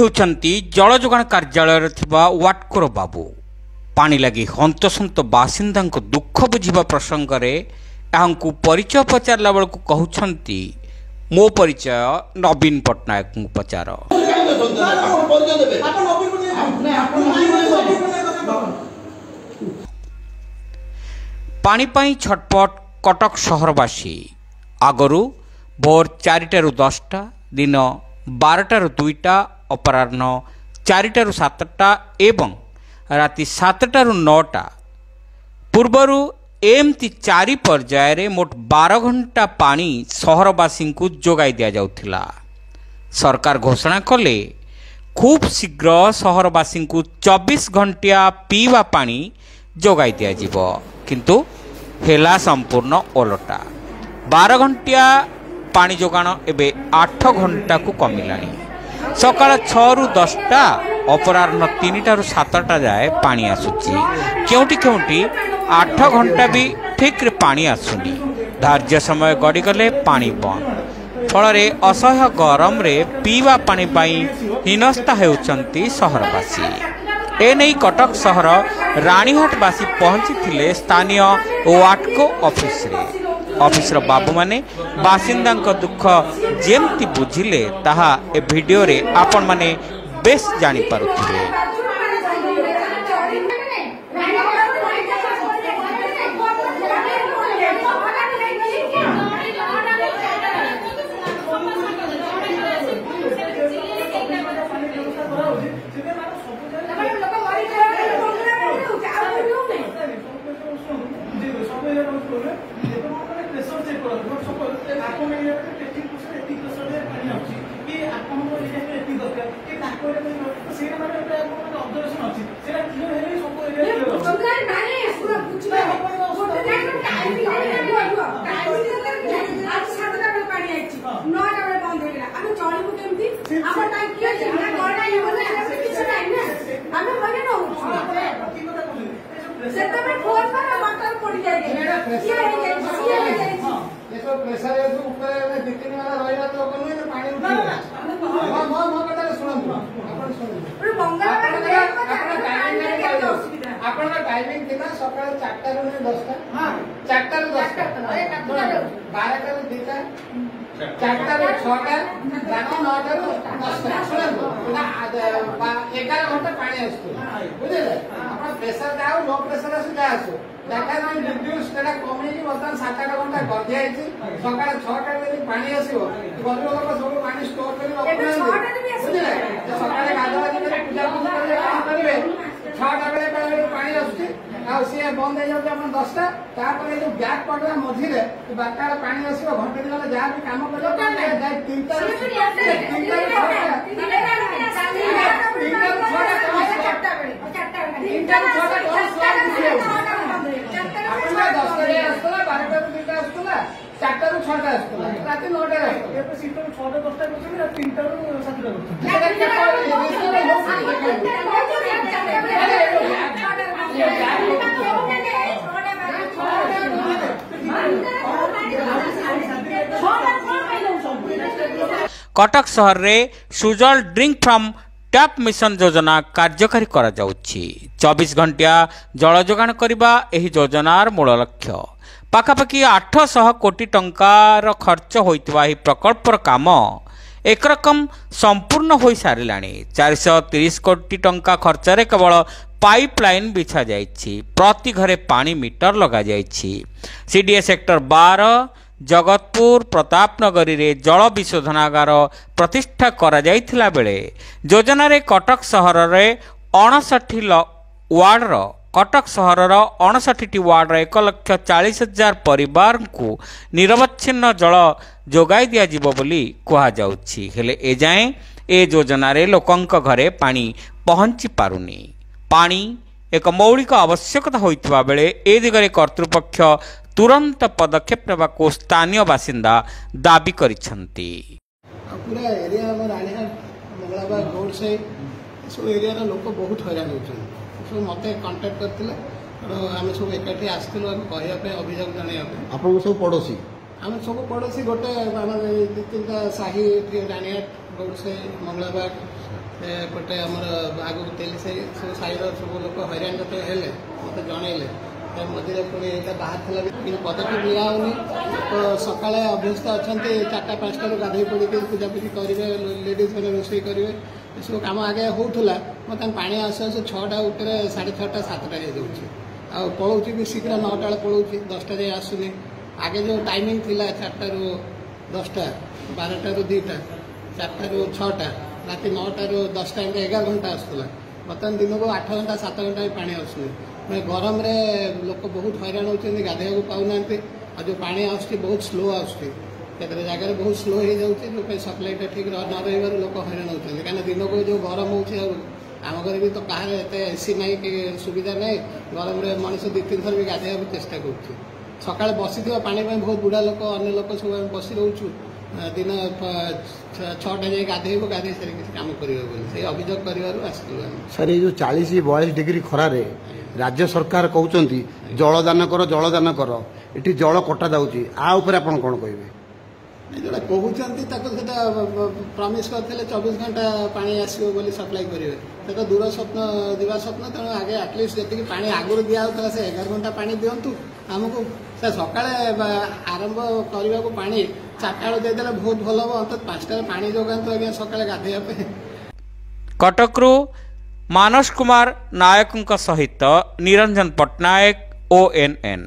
ହେଉଛନ୍ତି ଜଳଯୋଗାଣ କାର୍ଯ୍ୟାଳୟରେ ଥିବା ୱାଟକୋର ବାବୁ। ପାଣି ଲାଗି ହନ୍ତସନ୍ତ ବାସିନ୍ଦାଙ୍କ ଦୁଃଖ ବୁଝିବା ପ୍ରସଙ୍ଗରେ ଏହାଙ୍କୁ ପରିଚୟ ପଚାରିଲା ବେଳକୁ କହୁଛନ୍ତି, ମୋ ପରିଚୟ ନବୀନ ପଟ୍ଟନାୟକଙ୍କୁ ପଚାର। ପାଣି ପାଇଁ ଛଟପଟ କଟକ ସହରବାସୀ। ଆଗରୁ ଭୋର 4ଟାରୁ 10ଟା, ଦିନ 12ଟାରୁ 2ଟା, ଅପରାହ୍ନ 4ଟାରୁ 7ଟା ଏବଂ ରାତି 7ଟାରୁ 9ଟା ପୂର୍ବରୁ ଏମିତି 4 ପର୍ଯ୍ୟାୟରେ ମୋଟ 12 ଘଣ୍ଟା ପାଣି ସହରବାସୀଙ୍କୁ ଯୋଗାଇ ଦିଆଯାଉଥିଲା। ସରକାର ଘୋଷଣା କଲେ ଖୁବ୍ ଶୀଘ୍ର ସହରବାସୀଙ୍କୁ 24 ଘଣ୍ଟିଆ ପିଇବା ପାଣି ଯୋଗାଇ ଦିଆଯିବ, କିନ୍ତୁ ହେଲା ସମ୍ପୂର୍ଣ୍ଣ ଓଲଟା। 12 ଘଣ୍ଟିଆ ପାଣି ଯୋଗାଣ ଏବେ 8 ଘଣ୍ଟାକୁ କମିଲାଣି। ସକାଳ 6ରୁ 10ଟା, ଅପରାହ୍ନ 3ଟାରୁ 7ଟା ଯାଏ ପାଣି ଆସୁଛି। କେଉଁଠି କେଉଁଠି 8 ଘଣ୍ଟା ବି ଠିକ୍ରେ ପାଣି ଆସୁନି। ଧାର୍ଯ୍ୟ ସମୟ ଗଡ଼ିଗଲେ ପାଣି ବନ୍ଦ। ଫଳରେ ଅସହ୍ୟ ଗରମରେ ପିଇବା ପାଣି ପାଇଁ ହୀନସ୍ତା ହେଉଛନ୍ତି ସହରବାସୀ। ଏନେଇ କଟକ ସହର ରାଣୀହାଟବାସୀ ପହଞ୍ଚିଥିଲେ ସ୍ଥାନୀୟ ୱାଟକୋ ଅଫିସରେ। ଅଫିସର ବାବୁମାନେ ବାସିନ୍ଦାଙ୍କ ଦୁଃଖ ଯେମିତି ବୁଝିଲେ ତାହା ଏ ଭିଡ଼ିଓରେ ଆପଣମାନେ ବେଶ ଜାଣିପାରୁଥିବେ। ଆପଣଙ୍କ ଟାଇମିଂ ଥିଲା ସକାଳ 4ଟାରୁ 10ଟା, 4ଟାରୁ 10ଟା, 12ଟାରୁ 2ଟା, 4ଟାରୁ 6ଟା, ରାତି 9ଟାରୁ 10ଟା। ଶୁଣନ୍ତୁ, 11 ଘଣ୍ଟା ପାଣି ଆସୁଥିଲା, ବୁଝିଲେ? ଆପଣ ପ୍ରେସର ଯାଉ, ଲୋ ପ୍ରେସର ଆସୁ, ଯାହା ଆସୁ, ସେଟା କମେଇକି ବର୍ତ୍ତମାନ 7-8 ଘଣ୍ଟା କରିଦିଆଯାଇଛି। ସକାଳ 6ଟାରେ ଯଦି ପାଣି ଆସିବ, ଗରିବ ଲୋକ ସବୁ ପାଣି ଷ୍ଟୋର କରି ରଖୁନାହାନ୍ତି, ବୁଝିଲେ? ସକାଳେ ଗାଧୁଆ କରି ପୂଜା ପୂଜି କରିବେ, କଣ କରିବେ? 6ଟା ବେଳେ ବେଳେ ପାଣି ଆସୁଛି, ଆଉ ସିଏ ବନ୍ଦ ହେଇଯାଉଛି ଆପଣ 10ଟା। ତାପରେ ଏଇ ଯୋଉ ବ୍ୟାକ୍ ପଡ଼ିଲା ମଝିରେ 12ଟା ବେଳେ ପାଣି ଆସିବ, ଘଣ୍ଟେ 2 ଘଣ୍ଟା ଯାହା ବି କାମ କରିବ, ଯାଇ 3ଟାରୁ 6ଟା କଣ 10ଟା ଯାଏ ଆସୁଥିଲା, 12ଟାରୁ 2ଟା ଆସୁଥିଲା, 4ଟାରୁ 6ଟା ଆସୁଥିଲା, ରାତି 9ଟାରେ ଆସୁଥିଲା। 6ଟା 10ଟା କରୁଛନ୍ତି, 3ଟାରୁ 7ଟା କରୁଛନ୍ତି। କଟକ ସହରରେ Sujal drink from tap mission ଯୋଜନା କାର୍ଯ୍ୟକାରୀ କରାଯାଉଛି। 24 ଘଣ୍ଟିଆ ଜଳ ଯୋଗାଣ କରିବା ଏହି ଯୋଜନାର ମୂଳ ଲକ୍ଷ୍ୟ। ପାଖାପାଖି 800 କୋଟି ଟଙ୍କାର ଖର୍ଚ୍ଚ ହୋଇଥିବା ଏହି ପ୍ରକଳ୍ପର କାମ ଏକରକମ ସମ୍ପୂର୍ଣ୍ଣ ହୋଇସାରିଲାଣି। 430 କୋଟି ଟଙ୍କା ଖର୍ଚ୍ଚରେ କେବଳ ପାଇପ୍ ଲାଇନ୍ ବିଛାଯାଇଛି। ପ୍ରତି ଘରେ ପାଣି ମିଟର ଲଗାଯାଇଛି। ସିଡିଏ ସେକ୍ଟର 12, ଜଗତପୁର, ପ୍ରତାପନଗରୀରେ ଜଳ ବିଶୋଧନାଗାର ପ୍ରତିଷ୍ଠା କରାଯାଇଥିଲା ବେଳେ ଯୋଜନାରେ କଟକ ସହରରେ 59 ୱାର୍ଡର କଟକ ସହରର 59ଟି ୱାର୍ଡର 1,40,000 ପରିବାରଙ୍କୁ ନିରବଚ୍ଛିନ୍ନ ଜଳ ଯୋଗାଇ ଦିଆଯିବ ବୋଲି କୁହାଯାଉଛି। ହେଲେ ଏଯାଏଁ ଏ ଯୋଜନାରେ ଲୋକଙ୍କ ଘରେ ପାଣି ପହଞ୍ଚି ପାରୁନି। ପାଣି ଏକ ମୌଳିକ ଆବଶ୍ୟକତା ହୋଇଥିବା ବେଳେ ଏ ଦିଗରେ କର୍ତ୍ତୃପକ୍ଷ ତୁରନ୍ତ ପଦକ୍ଷେପ ନେବାକୁ ସ୍ଥାନୀୟ ବାସିନ୍ଦା ଦାବି କରିଛନ୍ତି। ପୁରା ଏରିଆ ଆମ ରାଣୀହାଟ, ମଙ୍ଗଳାବାଗ, ରୋଡ ସାଇଡ୍ ଏସବୁ ଏରିଆର ଲୋକ ବହୁତ ହଇରାଣ ହେଉଛନ୍ତି। ସବୁ ମୋତେ କଣ୍ଟାକ୍ଟ କରିଥିଲେ, ତେଣୁ ଆମେ ସବୁ ଏକାଠି ଆସିଥିଲୁ ଆମେ କହିବା ପାଇଁ, ଅଭିଯୋଗ ଜଣାଇବା ପାଇଁ। ଆପଣଙ୍କ ସବୁ ପଡ଼ୋଶୀ? ଆମେ ସବୁ ପଡ଼ୋଶୀ ଗୋଟେ ଆମର ଏଇ ଦୁଇ ତିନିଟା ସାହି ଏଠି ରାଣିହାଟ, ଗୌଡ଼ସାହି, ମଙ୍ଗଳାବାଗ, ଏପଟେ ଆମର ଆଗକୁ ତେଲିସାହି, ସବୁ ସାହିର ସବୁ ଲୋକ ହଇରାଣ ଯେତେବେଳେ ହେଲେ ମୋତେ ଜଣେଇଲେ। ତା ମଝିରେ ପୁଣି ଏଇଟା ବାହାରିଥିଲା ବି କିନ୍ତୁ ପଦକ୍ଷେପ ନିଆ ହେଉନି। ତ ସକାଳେ ଅଭ୍ୟସ୍ତ ଅଛନ୍ତି, 4ଟା 5ଟାରୁ ଗାଧୋଇ ପଡ଼ିକି ପୂଜାପୂଜି କରିବେ, ଲେଡ଼ିଜ୍ ମାନେ ରୋଷେଇ କରିବେ, ଏସବୁ କାମ ଆଗେ ହେଉଥିଲା। ବର୍ତ୍ତମାନ ପାଣି ଆସୁ ଆସୁ 6ଟା ଉପରେ 6:30 7ଟା ହେଇଯାଉଛି। ଆଉ ପଳଉଛି ବି ଶୀଘ୍ର, 9ଟା ବେଳେ ପଳଉଛି, 10ଟା ଯାଏ ଆସୁନି। ଆଗେ ଯେଉଁ ଟାଇମିଂ ଥିଲା 4ଟାରୁ 10ଟା, 12ଟାରୁ 2ଟା, 4ଟାରୁ 6ଟା, ରାତି 9ଟାରୁ 10ଟା, ଏମିତି 11 ଘଣ୍ଟା ଆସୁଥିଲା। ବର୍ତ୍ତମାନ ଦିନକୁ 8 ଘଣ୍ଟା 7 ଘଣ୍ଟା ବି ପାଣି ଆସୁନି। ମାନେ ଗରମରେ ଲୋକ ବହୁତ ହଇରାଣ ହେଉଛନ୍ତି, ଗାଧୋଇବାକୁ ପାଉନାହାନ୍ତି। ଆଉ ଯେଉଁ ପାଣି ଆସୁଛି ବହୁତ ସ୍ଲୋ ଆସୁଛି, କେତେଟା ଜାଗାରେ ବହୁତ ସ୍ଲୋ ହେଇଯାଉଛି। ଯେଉଁ ପାଇଁ ସପ୍ଲାଇଟା ଠିକ୍ ନ ରହିବାରୁ ଲୋକ ହଇରାଣ ହେଉଛନ୍ତି। କାହିଁକିନା ଦିନକୁ ଯେଉଁ ଗରମ ହେଉଛି, ଆଉ ଆମ ଘରେ ବି ତ କାହାର ଏତେ ଏସି ନାହିଁ କି ସୁବିଧା ନାହିଁ, ଗରମରେ ମଣିଷ 2-3 ଥର ବି ଗାଧୋଇବାକୁ ଚେଷ୍ଟା କରୁଛି। ସକାଳେ ବସିଥିବା ପାଣି ପାଇଁ ବହୁତ ବୁଢ଼ା ଲୋକ, ଅନ୍ୟ ଲୋକ ସବୁ ଆମେ ବସି ରହୁଛୁ। ଦିନ 6ଟା ଯାଇ ଗାଧେଇବୁ, ଗାଧେଇ ସାରି କିଛି କାମ କରିବ ବୋଲି ସେଇ ଅଭିଯୋଗ କରିବାରୁ ଆସିଥିଲୁ ଆମେ। ସାର୍, ଏଇ ଯେଉଁ 40-42 ଡିଗ୍ରୀ ଖରାରେ ରାଜ୍ୟ ସରକାର କହୁଛନ୍ତି ଜଳଦାନ କର, ଜଳଦାନ କର, ଏଠି ଜଳ କଟା ଯାଉଛି, ଆ ଉପରେ ଆପଣ କ'ଣ କହିବେ? ଯେଉଁଟା କହୁଛନ୍ତି ତାକୁ ସେଟା ପ୍ରମିସ୍ କରିଥିଲେ 24 ଘଣ୍ଟା ପାଣି ଆସିବ ବୋଲି ସପ୍ଲାଇ କରିବେ, ସେଟା ଦୂର ସ୍ୱପ୍ନ, ଦିବା ସ୍ୱପ୍ନ। ତେଣୁ ଆଗେ ଆଟଲିଷ୍ଟ ଯେତିକି ପାଣି ଆଗରୁ ଦିଆହେଉଥିଲା ସେ 11 ଘଣ୍ଟା ପାଣି ଦିଅନ୍ତୁ ଆମକୁ। ସେ ସକାଳେ ଆରମ୍ଭ କରିବାକୁ ପାଣି 4ଟା ବେଳୁ ଦେଇଦେଲେ ବହୁତ ଭଲ ହେବ। ଅନ୍ତତଃ 5ଟାରେ ପାଣି ଯୋଗାନ୍ତୁ ଆଜ୍ଞା ସକାଳେ ଗାଧୋଇବା ପାଇଁ। କଟକରୁ ମାନସ କୁମାର ନାୟକଙ୍କ ସହିତ ନିରଞ୍ଜନ ପଟ୍ଟନାୟକ, ONN।